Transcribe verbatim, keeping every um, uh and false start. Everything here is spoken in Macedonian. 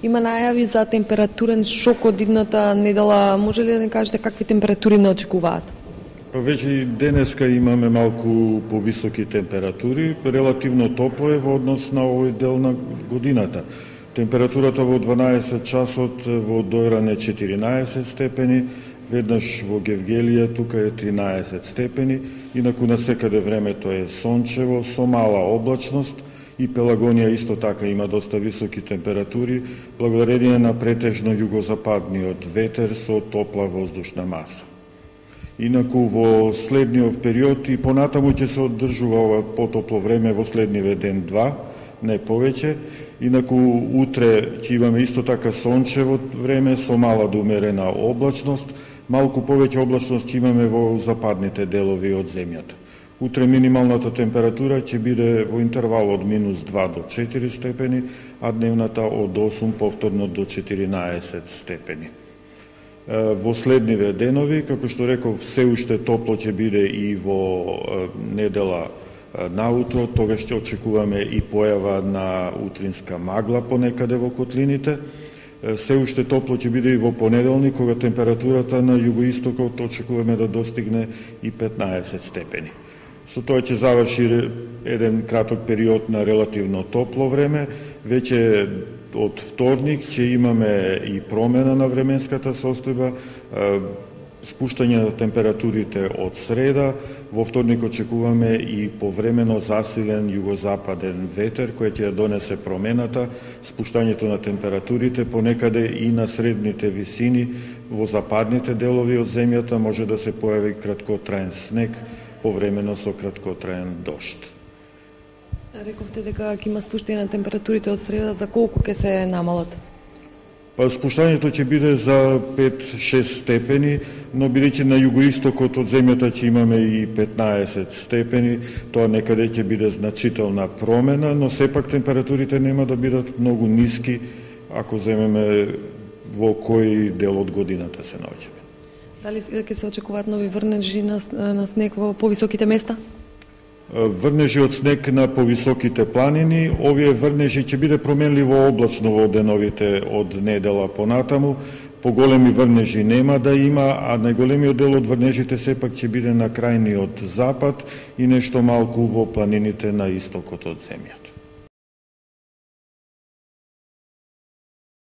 Има најави за температурен шок од идната недела. Може ли да не кажете какви температури не очекуваат? Па веќе и денеска имаме малку повисоки температури, релативно топло е во однос на овој дел на годината. Температурата во дванаесет часот во Дојран е четиринаесет степени, веднаш во Гевгелија тука е тринаесет степени, инаку насекаде времето е сончево со мала облачност и Пелагонија исто така има доста високи температури, благодарение на претежно југозападниот ветер со топла воздушна маса. Инаку во следниот период и понатаму ќе се одржува ова потопло време во следниве ден-два, не повеќе. Инаку утре ќе имаме исто така сончево време со мала до умерена облачност, малку повеќе облачност ќе имаме во западните делови од земјата. Утре минималната температура ќе биде во интервал од минус два до четири степени, а дневната од осум повторно до четиринаесет степени. Во следниве денови, како што реков, се уште топло ќе биде и во недела наутро, тогаш ќе очекуваме и појава на утринска магла понекаде во котлините. Се уште топло ќе биде и во понеделник, кога температурата на југоистокот очекуваме да достигне и петнаесет степени. Со тоа ќе заврши еден краток период на релативно топло време. Веќе од вторник ќе имаме и промена на временската состојба, спуштање на температурите од среда. Во вторник очекуваме и повремено засилен југозападен ветер кој ќе донесе промената, спуштањето на температурите понекаде и на средните висини. Во западните делови од земјата може да се појави краткотраен снег, повремено со краткотраен дожд. Рековте дека ќе има спуштање на температурите од среда, за колку ќе се намалат? Па спуштањето ќе биде за пет-шест степени, но бидејќи на југоистокот од земјата ќе имаме и петнаесет степени, тоа некаде ќе биде значителна промена, но сепак температурите нема да бидат многу ниски ако земеме во кој дел од годината се наоѓаме. Дали ќе се очекуваат нови врнежи на, на снег во повисоките места? Врнежи од снег на повисоките планини. Овие врнежи ќе биде променливо облачно во деновите од недела понатаму. Поголеми врнежи нема да има, а најголемиот дел од врнежите сепак ќе биде на крајниот запад и нешто малку во планините на истокот од земјата.